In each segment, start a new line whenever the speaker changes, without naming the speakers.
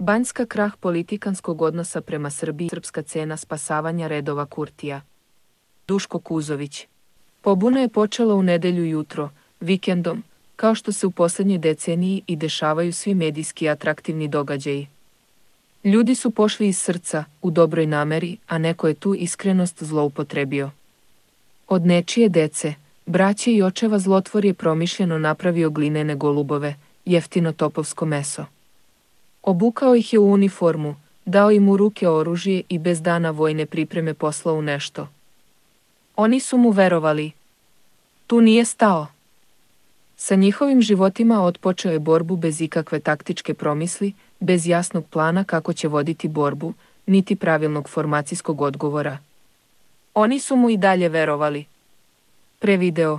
Banjska krah politikanskog odnosa prema Srbiji, srpska cena spasavanja redova Kurtija. Duško Kuzović. Pobuna je počela u nedelju jutro, vikendom, kao što se u posljednjoj deceniji i dešavaju svi medijski atraktivni događaji. Ljudi su pošli iz srca, u dobroj nameri, a neko je tu iskrenost zloupotrebio. Od nečije dece, braće i očeva zlotvor je promišljeno napravio glinene golubove, jeftino topovsko meso. Obukao ih je u uniformu, dao im u ruke oružje i bez dana vojne pripreme poslao u nešto. Oni su mu verovali. Tu nije stao. Sa njihovim životima otpočeo je borbu bez ikakve taktičke promisli, bez jasnog plana kako će voditi borbu, niti pravilnog formacijskog odgovora. Oni su mu i dalje verovali. Prevideo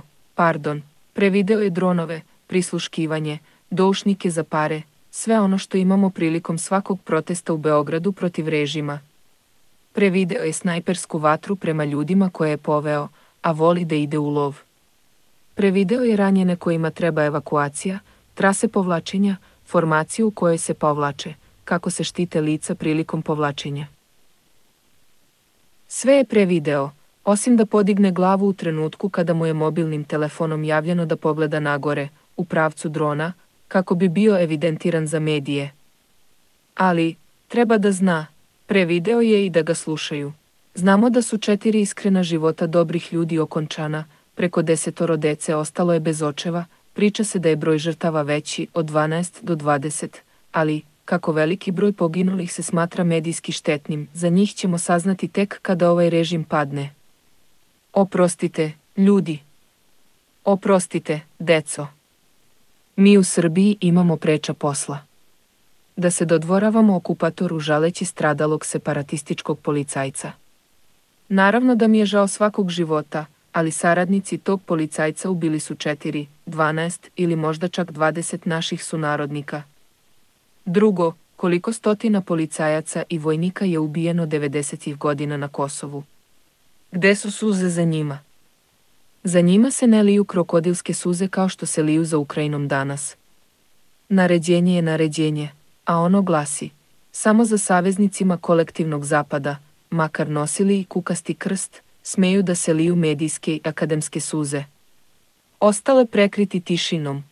je dronove, prisluškivanje, doušnike za pare, sve ono što imamo prilikom svakog protesta u Beogradu protiv režima. Prevideo je snajpersku vatru prema ljudima koje je poveo, a voli da ide u lov. Prevideo je ranjene kojima treba evakuacija, trase povlačenja, formaciju u kojoj se povlače, kako se štite lica prilikom povlačenja. Sve je prevideo, osim da podigne glavu u trenutku kada mu je mobilnim telefonom javljeno da pogleda nagore, u pravcu drona, kako bi bio evidentiran za medije. Ali, treba da zna, prevideo je i da ga slušaju. Znamo da su 4 iskrena života dobrih ljudi okončana, preko 10 dece ostalo je bez očeva, priča se da je broj žrtava veći od 12 do 20, ali, kako veliki broj poginulih se smatra medijski štetnim, za njih ćemo saznati tek kada ovaj režim padne. Oprostite, ljudi. Oprostite, deco. Mi u Srbiji imamo preča posla. Da se dodvoravamo okupatoru žaleći stradalog separatističkog policajca. Naravno da mi je žao svakog života, ali saradnici tog policajca ubili su 4, 12 ili možda čak 20 naših sunarodnika. Drugo, koliko stotina policajaca i vojnika je ubijeno 90-ih godina na Kosovu. Gde su suze za njima? Za njima se ne liju krokodilske suze kao što se liju za Ukrajinom danas. Naređenje je naređenje, a ono glasi, samo za saveznicima kolektivnog zapada, makar nosili i kukasti krst, smeju da se liju medijske i akademske suze. Ostale prekriti tišinom.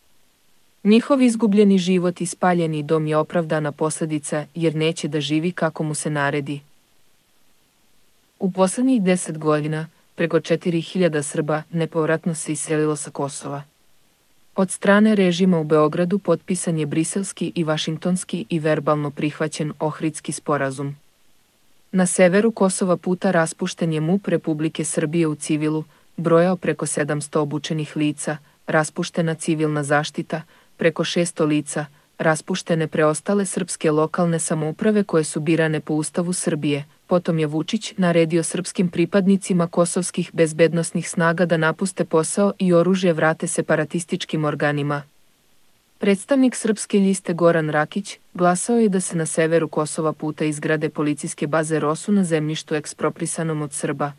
Njihov izgubljeni život i spaljeni dom je opravdana posljedica jer neće da živi kako mu se naredi. U poslednjih 10 godina, preko 4000 Srba nepovratno se iselilo sa Kosova. Od strane režima u Beogradu potpisan je briselski i vašingtonski i verbalno prihvaćen Ohridski sporazum. Na severu Kosova puta raspušten je MUP Republike Srbije u civilu, brojao preko 700 obučenih lica, raspuštena civilna zaštita, preko 600 lica, raspuštene preostale srpske lokalne samouprave koje su birane po Ustavu Srbije. Potom je Vučić naredio srpskim pripadnicima kosovskih bezbednosnih snaga da napuste posao i oružje vrate separatističkim organima. Predstavnik Srpske liste Goran Rakić glasao je da se na severu Kosova puta izgrade policijske baze ROSU na zemljištu eksproprisanom od Srba.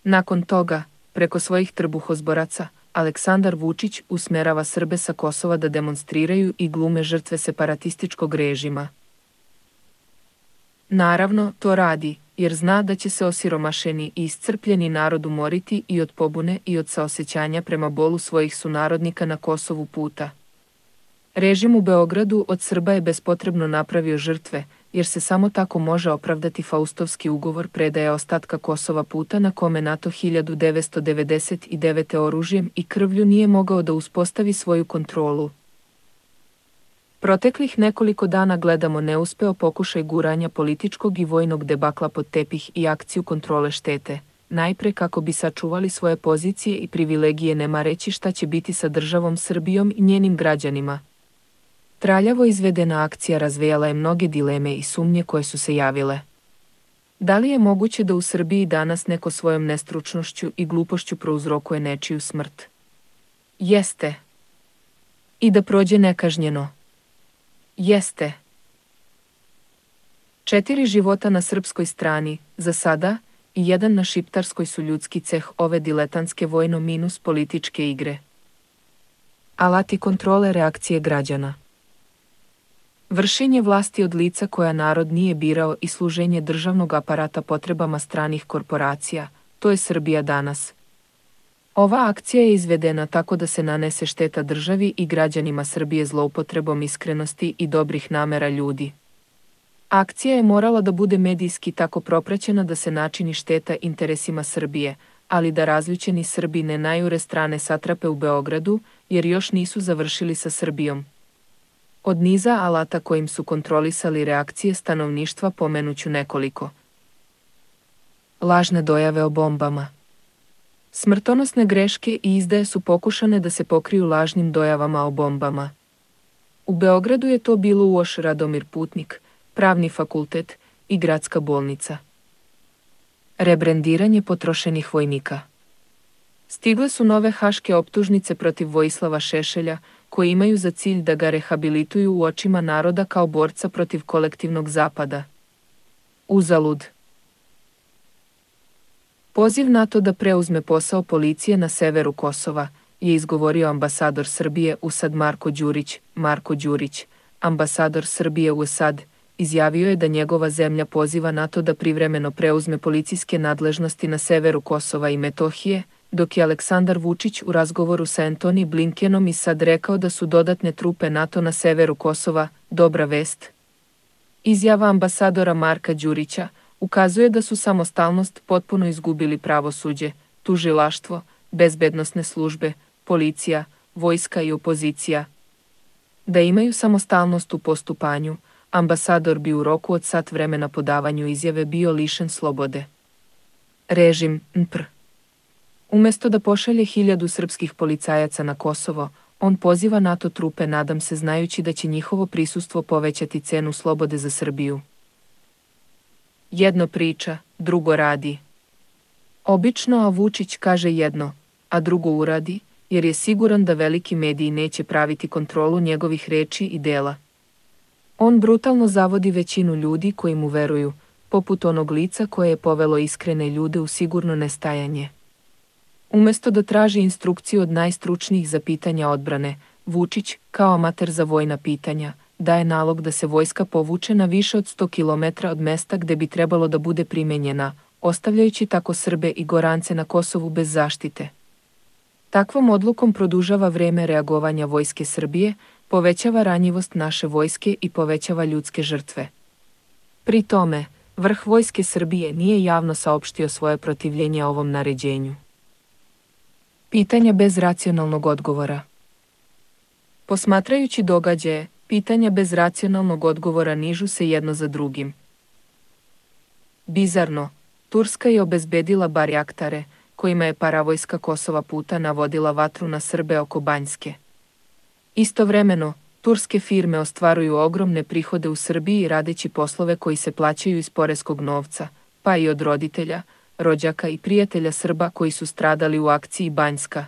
Nakon toga, preko svojih trbuhozboraca, Aleksandar Vučić usmerava Srbe sa Kosova da demonstriraju i glume žrtve separatističkog režima. Naravno, to radi, jer zna da će se osiromašeni i iscrpljeni narod umoriti i od pobune i od saosećanja prema bolu svojih sunarodnika na Kosovu puta. Režim u Beogradu od Srba je bespotrebno napravio žrtve, jer se samo tako može opravdati Faustovski ugovor predaje ostatka Kosova puta na kome NATO 1999. oružjem i krvlju nije mogao da uspostavi svoju kontrolu. Proteklih nekoliko dana gledamo neuspeo pokušaj guranja političkog i vojnog debakla pod tepih i akciju kontrole štete, najpre kako bi sačuvali svoje pozicije i privilegije ne mareći šta će biti sa državom Srbijom i njenim građanima. Traljavo izvedena akcija razvejala je mnoge dileme i sumnje koje su se javile. Da li je moguće da u Srbiji danas neko svojom nestručnošću i glupošću prouzrokuje nečiju smrt? Jeste. I da prođe nekažnjeno? Jeste. 4 života na srpskoj strani, za sada, i 1 na šiptarskoj su ljudski ceh ove diletantske vojno-političke igre. Alati kontrole reakcije građana. Vršenje vlasti od lica koja narod nije birao i služenje državnog aparata potrebama stranih korporacija, to je Srbija danas. Ova akcija je izvedena tako da se nanese šteta državi i građanima Srbije zloupotrebom iskrenosti i dobrih namera ljudi. Akcija je morala da bude medijski tako propraćena da se načini šteta interesima Srbije, ali da razljućeni Srbi ne najure strane satrape u Beogradu, jer još nisu završili sa Srbijom. Od niza alata kojim su kontrolisali reakcije stanovništva pomenuću nekoliko. Lažne dojave o bombama. Smrtonosne greške i izdaje su pokušane da se pokriju lažnim dojavama o bombama. U Beogradu je to bilo UOŠ Radomir Putnik, Pravni fakultet i Gradska bolnica. Rebrendiranje potrošenih vojnika. Stigle su nove haške optužnice protiv Vojislava Šešelja, koji imaju za cilj da ga rehabilituju u očima naroda kao borca protiv kolektivnog zapada. Uzalud. Poziv NATO da preuzme posao policije na severu Kosova, je izgovorio ambasador Srbije u SAD Marko Đurić. Marko Đurić, ambasador Srbije u SAD, izjavio je da njegova zemlja poziva NATO da privremeno preuzme policijske nadležnosti na severu Kosova i Metohije, dok je Aleksandar Vučić u razgovoru sa Antony Blinkenom i SAD rekao da su dodatne trupe NATO na severu Kosova dobra vest. Izjava ambasadora Marka Đurića ukazuje da su samostalnost potpuno izgubili pravosuđe, tužilaštvo, bezbednosne službe, policija, vojska i opozicija. Da imaju samostalnost u postupanju, ambasador bi u roku od sat vremena po davanju izjave bio lišen slobode. Režim NPR. Umesto da pošalje 1000 srpskih policajaca na Kosovo, on poziva NATO trupe, nadam se znajući da će njihovo prisustvo povećati cenu slobode za Srbiju. Jedno priča, drugo radi. Obično, a Vučić kaže jedno, a drugo uradi, jer je siguran da veliki mediji neće praviti kontrolu njegovih reči i dela. On brutalno zavodi većinu ljudi koji mu veruju, poput onog lica koje je povelo iskrene ljude u sigurno nestajanje. Umesto da traži instrukciju od najstručnijih za pitanja odbrane, Vučić, kao amater za vojna pitanja, daje nalog da se vojska povuče na više od 100 km od mesta gde bi trebalo da bude primenjena, ostavljajući tako Srbe i Gorance na Kosovu bez zaštite. Takvom odlukom produžava vreme reagovanja vojske Srbije, povećava ranjivost naše vojske i povećava ljudske žrtve. Pri tome, vrh vojske Srbije nije javno saopštio svoje protivljenje ovom naređenju. Pitanja bez racionalnog odgovora. Posmatrajući događaje, pitanja bez racionalnog odgovora nižu se jedno za drugim. Bizarno, Turska je obezbedila barjaktare, kojima je paravojska Kosova puta navodila vatru na Srbe oko Banjske. Istovremeno, turske firme ostvaruju ogromne prihode u Srbiji radeći poslove koji se plaćaju iz poreskog novca, pa i od roditelja, rođaka i prijatelja Srba koji su stradali u akciji Banjska.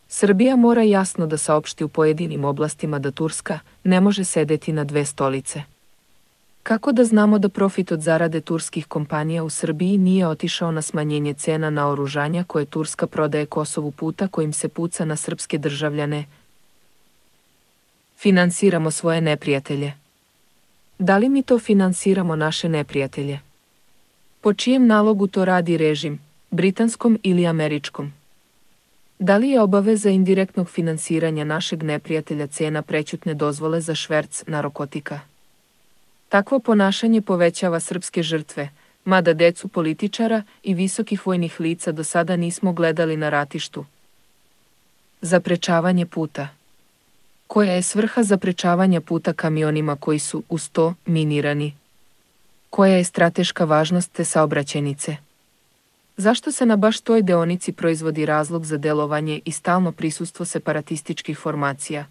Srbija mora jasno da saopšti u pojedinim oblastima da Turska ne može sedeti na dve stolice. Kako da znamo da profit od zarade turskih kompanija u Srbiji nije otišao na smanjenje cena na oružanja koje Turska prodaje Kosovu puta kojim se puca na srpske državljane? Finansiramo svoje neprijatelje. Da li mi to finansiramo naše neprijatelje? Po čijem nalogu to radi režim, britanskom ili američkom? Da li je obaveza indirektnog finansiranja našeg neprijatelja cena prećutne dozvole za šverc narkotika? Takvo ponašanje povećava srpske žrtve, mada decu političara i visokih vojnih lica do sada nismo gledali na ratištu. Zaprečavanje puta. Koja je svrha zaprečavanja puta kamionima koji su, uz to, minirani? Koja je strateška važnost te saobraćajnice? Zašto se na baš toj deonici proizvodi razlog za delovanje i stalno prisustvo separatističkih formacija?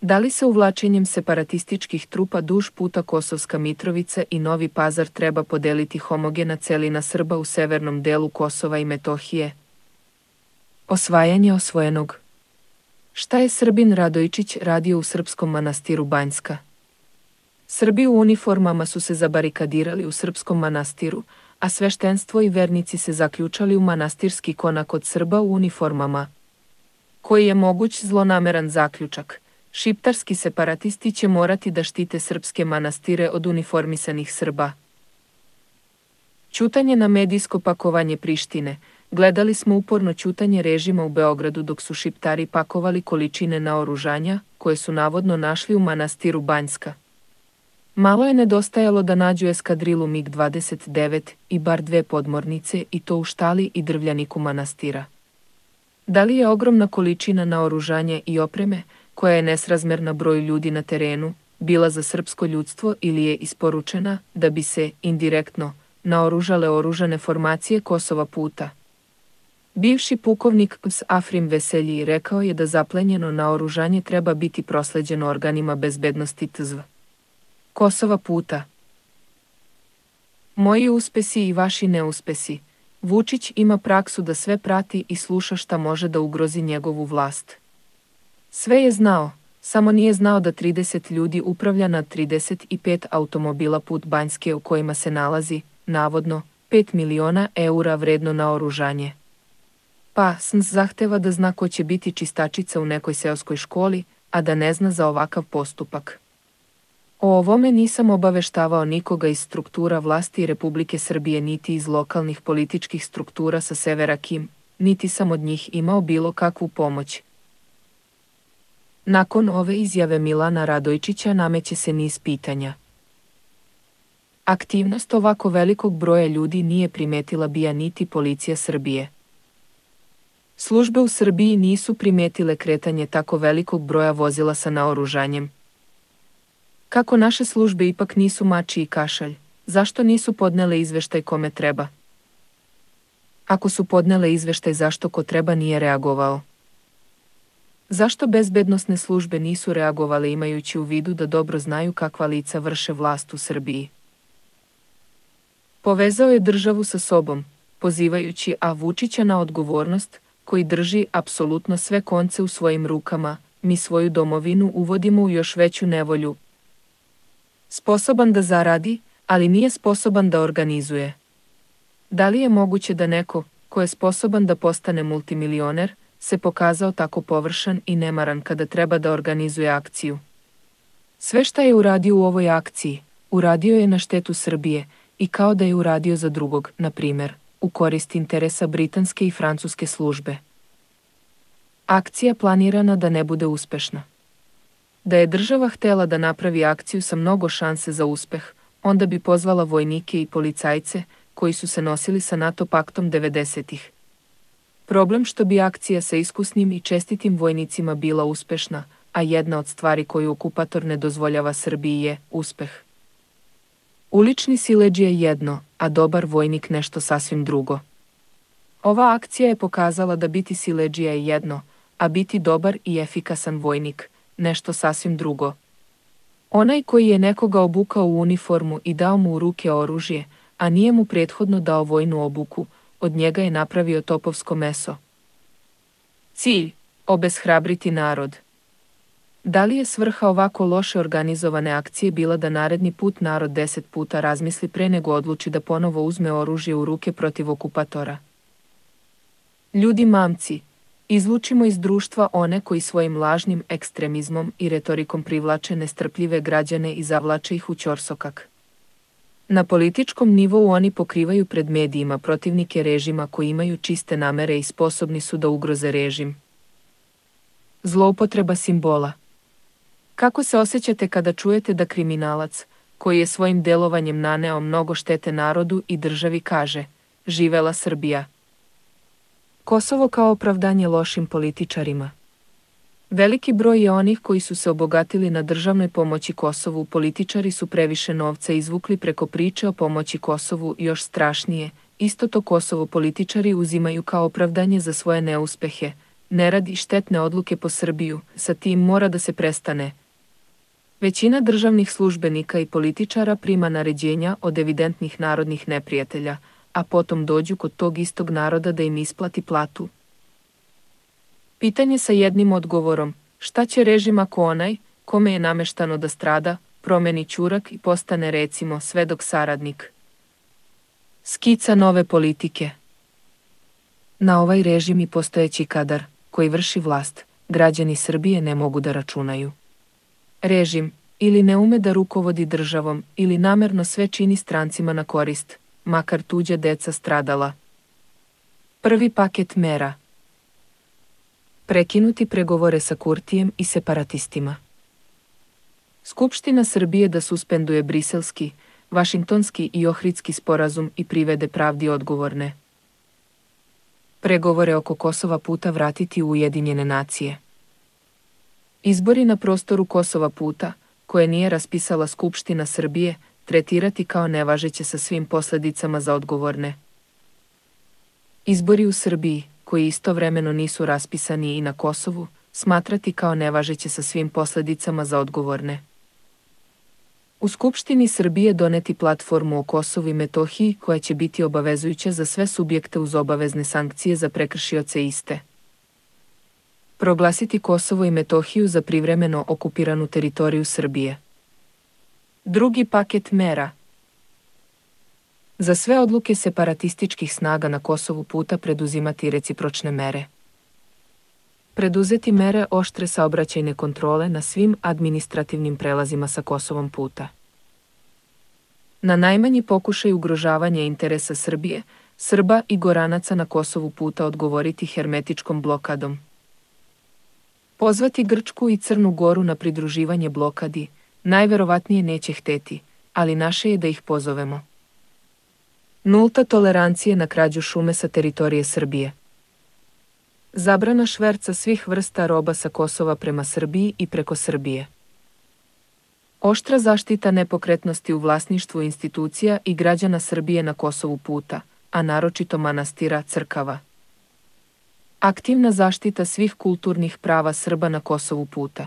Da li se uvlačenjem separatističkih trupa duž puta Kosovska Mitrovica i Novi Pazar treba podeliti homogena celina Srba u severnom delu Kosova i Metohije? Osvajanje osvojenog. Šta je Srbin Radojičić radio u srpskom manastiru Banjska? Srbi u uniformama su se zabarikadirali u srpskom manastiru, a sveštenstvo i vernici se zaključali u manastirski konak od Srba u uniformama. Koji je moguć zlonameran zaključak? Šiptarski separatisti će morati da štite srpske manastire od uniformisanih Srba. Ćutanje na medijsko pakovanje Prištine. Gledali smo uporno ćutanje režima u Beogradu dok su Šiptari pakovali količine naoružanja, koje su navodno našli u manastiru Banjska. Malo je nedostajalo da nađu eskadrilu MiG-29 i bar 2 podmornice i to u štali i drvljaniku manastira. Da li je ogromna količina naoružanja i opreme, koja je nesrazmerna broju ljudi na terenu, bila za srpsko ljudstvo ili je isporučena da bi se, indirektno, naoružale oružane formacije Kosova puta? Bivši pukovnik Afrim Veselji rekao je da zaplenjeno naoružanje treba biti prosleđeno organima bezbednosti TZV Kosova puta. Moji uspesi i vaši neuspesi. Vučić ima praksu da sve prati i sluša šta može da ugrozi njegovu vlast. Sve je znao, samo nije znao da 30 ljudi upravlja nad 35 automobila put Banjske u kojima se nalazi, navodno, 5 miliona eura vredno naoružanje. Pa, SNS zahteva da zna ko će biti čistačica u nekoj seoskoj školi, a da ne zna za ovakav postupak. O ovome nisam obaveštavao nikoga iz struktura vlasti Republike Srbije niti iz lokalnih političkih struktura sa severa Kim, niti sam od njih imao bilo kakvu pomoć. Nakon ove izjave Milana Radojčića nameće se niz pitanja. Aktivnost ovako velikog broja ljudi nije primetila BIA niti policija Srbije. Službe u Srbiji nisu primetile kretanje tako velikog broja vozila sa naoružanjem. Kako naše službe ipak nisu mači i kašalj, zašto nisu podnele izveštaj kome treba? Ako su podnele izveštaj, zašto ko treba nije reagovao? Zašto bezbednosne službe nisu reagovale imajući u vidu da dobro znaju kakva lica vrše vlast u Srbiji? Povezao je državu sa sobom, pozivajući Vučića na odgovornost, koji drži apsolutno sve konce u svojim rukama, mi svoju domovinu uvodimo u još veću nevolju. Sposoban da zaradi, ali nije sposoban da organizuje. Da li je moguće da neko, ko je sposoban da postane multimilioner, se pokazao tako površan i nemaran kada treba da organizuje akciju? Sve šta je uradio u ovoj akciji, uradio je na štetu Srbije i kao da je uradio za drugog, na primer, u korist interesa britanske i francuske službe. Akcija planirana da ne bude uspešna. Da je država htela da napravi akciju sa mnogo šanse za uspeh, onda bi pozvala vojnike i policajce koji su se nosili sa NATO paktom 90-ih. Problem što bi akcija sa iskusnim i čestitim vojnicima bila uspešna, a jedna od stvari koju okupator ne dozvoljava Srbiji je uspeh. Ulični siledžija je jedno, a dobar vojnik nešto sasvim drugo. Ova akcija je pokazala da biti siledžija je jedno, a biti dobar i efikasan vojnik nešto sasvim drugo. Onaj koji je nekoga obukao u uniformu i dao mu u ruke oružje, a nije mu prethodno dao vojnu obuku, od njega je napravio topovsko meso. Cilj: obeshrabriti narod. Da li je svrha ovako loše organizovane akcije bila da naredni put narod 10 puta razmisli pre nego odluči da ponovo uzme oružje u ruke protiv okupatora? Ljudi mamci, izlučimo iz društva one koji svojim lažnim ekstremizmom i retorikom privlače nestrpljive građane i zavlače ih u ćorsokak. Na političkom nivou oni pokrivaju pred medijima protivnike režima koji imaju čiste namere i sposobni su da ugroze režim. Zloupotreba simbola. Kako se osjećate kada čujete da kriminalac, koji je svojim delovanjem naneo mnogo štete narodu i državi, kaže: živela Srbija? Kosovo kao opravdanje lošim političarima. Veliki broj je onih koji su se obogatili na državnoj pomoći Kosovu. Političari su previše novca izvukli preko priče o pomoći Kosovu. Još strašnije, isto to Kosovo političari uzimaju kao opravdanje za svoje neuspehe, nerad i štetne odluke po Srbiju. Sa tim mora da se prestane. Većina državnih službenika i političara prima naređenja od evidentnih narodnih neprijatelja, a potom dođu kod tog istog naroda da im isplati platu. Pitanje sa jednim odgovorom: šta će režim ako onaj, kome je nameštano da strada, promeni ćurak i postane recimo svedok saradnik? Skica nove politike. Na ovaj režim i postojeći kadar, koji vrši vlast, građani Srbije ne mogu da računaju. režim ili ne ume da rukovodi državom ili namerno sve čini strancima na korist, makar tuđa deca stradala. Prvi paket mera. Prekinuti pregovore sa Kurtijem i separatistima. Skupština Srbije da suspenduje briselski, vašingtonski i ohridski sporazum i privede pravdi odgovorne. Pregovore oko Kosova puta vratiti u Ujedinjene nacije. Izbori na prostoru Kosova puta, koje nije raspisala Skupština Srbije, tretirati kao nevažeće sa svim posljedicama za odgovorne. Izbori u Srbiji, koji istovremeno nisu raspisani i na Kosovu, smatrati kao nevažeće sa svim posljedicama za odgovorne. U Skupštini Srbije doneti platformu o Kosovu i Metohiji koja će biti obavezujuća za sve subjekte uz obavezne sankcije za prekršioce iste. Proglasiti Kosovo i Metohiju za privremeno okupiranu teritoriju Srbije. Drugi paket mera. Za sve odluke separatističkih snaga na Kosovu puta preduzimati recipročne mere. Preduzeti mere oštre saobraćajne kontrole na svim administrativnim prelazima sa Kosovom puta. Na najmanji pokušaj ugrožavanja interesa Srbije, Srba i Goranaca na Kosovu puta odgovoriti hermetičkom blokadom. Pozvati Grčku i Crnu Goru na pridruživanje blokadi, najverovatnije neće hteti, ali naše je da ih pozovemo. Nulta tolerancije na krađu šume sa teritorije Srbije. Zabrana šverca svih vrsta roba sa Kosova prema Srbiji i preko Srbije. Oštra zaštita nepokretnosti u vlasništvu institucija i građana Srbije na Kosovu puta, a naročito manastira, crkava. Aktivna zaštita svih kulturnih prava Srba na Kosovu puta.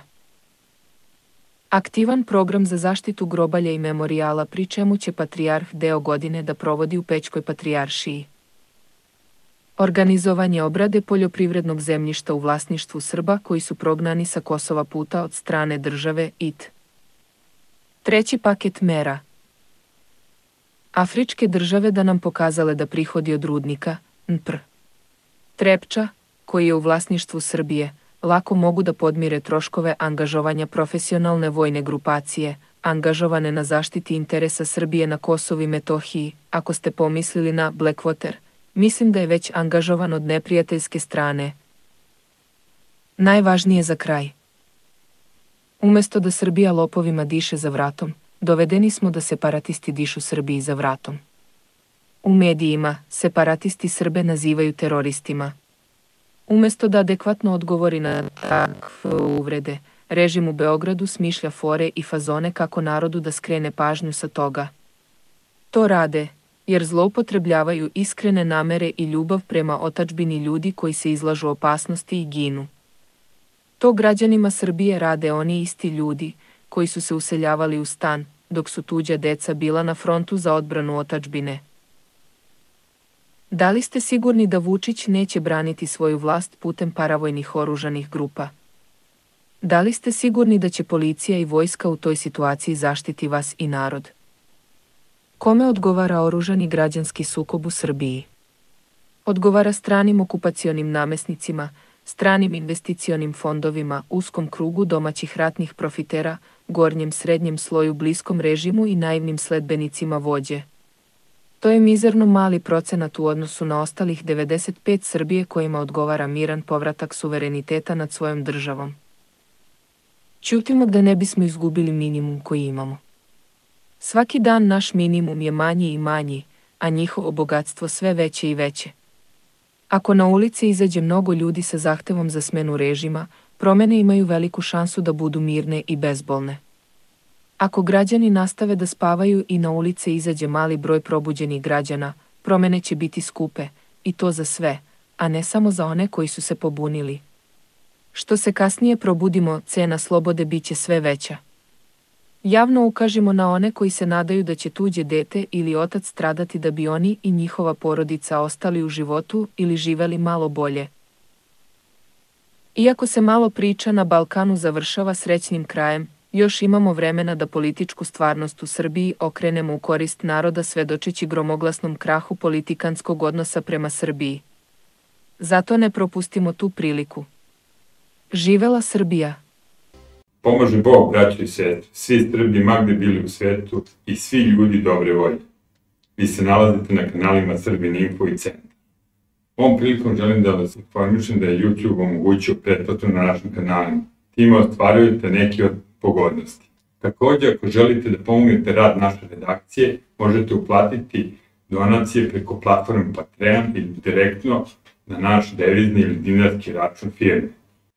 Aktivan program za zaštitu grobalja i memorijala, pri čemu će patrijarh deo godine da provodi u Pećkoj patrijaršiji. Organizovanje obrade poljoprivrednog zemljišta u vlasništvu Srba koji su prognani sa Kosova puta od strane države IT. Treći paket mera. Afričke države da nam pokazale da prihodi od rudnika, NPR, Trepča, koji je u vlasništvu Srbije, lako mogu da podmire troškove angažovanja profesionalne vojne grupacije, angažovane na zaštiti interesa Srbije na Kosovu i Metohiji. Ako ste pomislili na Blackwater, mislim da je već angažovan od neprijateljske strane. Najvažnije za kraj. Umesto da Srbija lopovima diše za vratom, dovedeni smo da separatisti dišu Srbiji za vratom. U medijima separatisti Srbe nazivaju teroristima. Umesto da adekvatno odgovori na takve uvrede, režim u Beogradu smišlja fore i fazone kako narodu da skrene pažnju sa toga. To rade, jer zloupotrebljavaju iskrene namere i ljubav prema otadžbini ljudi koji se izlažu opasnosti i ginu. To građanima Srbije rade oni isti ljudi, koji su se useljavali u stan, dok su tuđa deca bila na frontu za odbranu otadžbine. Da li ste sigurni da Vučić neće braniti svoju vlast putem paravojnih oružanih grupa? Da li ste sigurni da će policija i vojska u toj situaciji zaštiti vas i narod? Kome odgovara oružani građanski sukob u Srbiji? Odgovara stranim okupacionim namesnicima, stranim investicionim fondovima, uskom krugu domaćih ratnih profitera, gornjem srednjem sloju bliskom režimu i naivnim sledbenicima vođe. To je mizerno mali procenat u odnosu na ostalih 95 Srbije kojima odgovara miran povratak suvereniteta nad svojom državom. Ćutimo da ne bismo izgubili minimum koji imamo. Svaki dan naš minimum je manji i manji, a njihovo bogatstvo sve veće i veće. Ako na ulici izađe mnogo ljudi sa zahtevom za smenu režima, promene imaju veliku šansu da budu mirne i bezbolne. Ako građani nastave da spavaju i na ulice izađe mali broj probuđenih građana, promene će biti skupe, i to za sve, a ne samo za one koji su se pobunili. Što se kasnije probudimo, cena slobode bit će sve veća. Javno ukažimo na one koji se nadaju da će tuđe dete ili otac stradati da bi oni i njihova porodica ostali u životu ili živeli malo bolje. Iako se malo priča na Balkanu završava srećnim krajem, još imamo vremena da političku stvarnost u Srbiji okrenemo u korist naroda svedočeći gromoglasnom krahu politikanskog odnosa prema Srbiji. Zato ne propustimo tu priliku. Živela Srbija!
Pomaže Bog, braćo i sestre, svi Srbi ma gde bili u svetu i svi ljudi dobre volje. Vi se nalazite na kanalima Srbin Info i Centar. Ovom prilikom želim da vas informišem da je YouTube omogućio pretplatu na našim kanalima. Time ostvarujete neke od pogodnosti. Također, ako želite da pomognete rad naše redakcije, možete uplatiti donacije preko platforme Patreon ili direktno na naš devizni ili dinarski račun firme.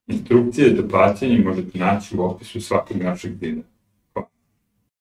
Instrukcije za plaćanje možete naći u opisu svakog našeg videa.